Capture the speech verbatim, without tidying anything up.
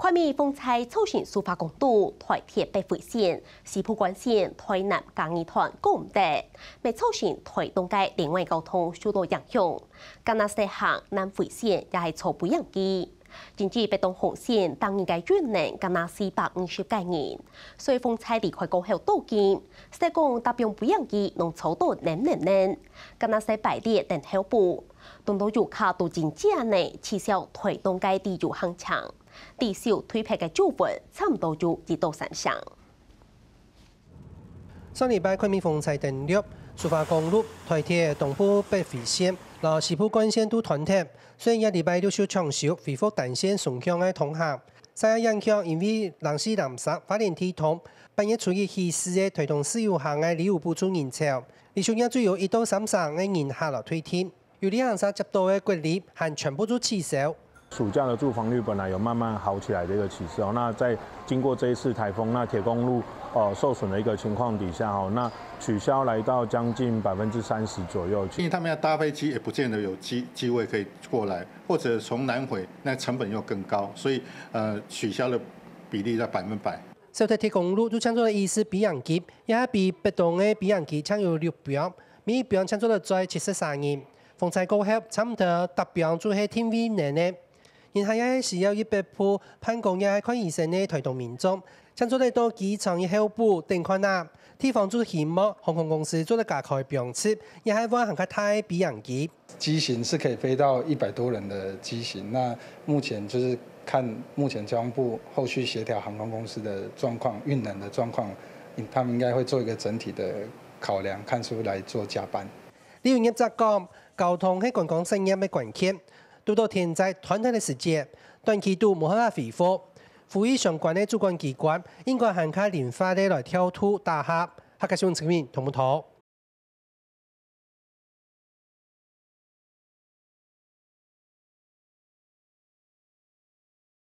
北美風災造成蘇花公路、台鐵北迴線、西部幹線、台南嘉義段過毋得，乜造成台東个另外交通受到影響。加拿大行南迴線也係坐飛行機。今日北東紅線搭人个運能加拿四百五十个人，所以風災離開過後到今，實講搭放飛行機攏坐到淰淰淰，加拿大排列等候步。當多遊客都真正呢取消台東个旅遊行程。 地球推白个舊聞，差毋多有一到三成。上禮拜，看明風災登陸，蘇花公路、台鐵東部北迴線，摎西部幹線都斷忒，所以這禮拜陸續搶修，恢復單線雙向个通行。受影響，因為零四零三花蓮地通，八月初一起駛个台東自由行个旅遊補助人潮，連續兩週有一到三成个人客來退訂。 有旅行社接到个國旅，還全部都取消。暑假的住房率本來有慢慢好起来的一个起势哦，那在经过这一次台风，那铁公路呃受损的一个情况底下哦，那取消来到将近百分之三十左右。因为他们要搭飞机，也不见得有机机位可以过来，或者从南回，那成本又更高，所以呃取消的比例在百分百。小台铁公路就像做了一次飛行機，也係比北東个飛行機強有六標，每一標強做了載七十三人。 風災過後，差毋多逐標就係定位能个。人客也係需要一百步，辦公也係看醫生个台東民眾，正做得到機場一候補等看啊。地方就希望航空公司做得加開標次，也係換行較大个飛行機。机型是可以飞到一百多人的机型，那目前就是看目前交通部后续协调航空公司的状况、运能的状况，他们应该会做一个整体的考量，看是不是来做加班。 旅遊業者講，交通係觀光產業个關鍵，堵到天災斷忒个時節，短期都無辦法恢復。呼籲相關个主管機關應該還較靈活个來調度打合。客家新聞陳明、童木頭。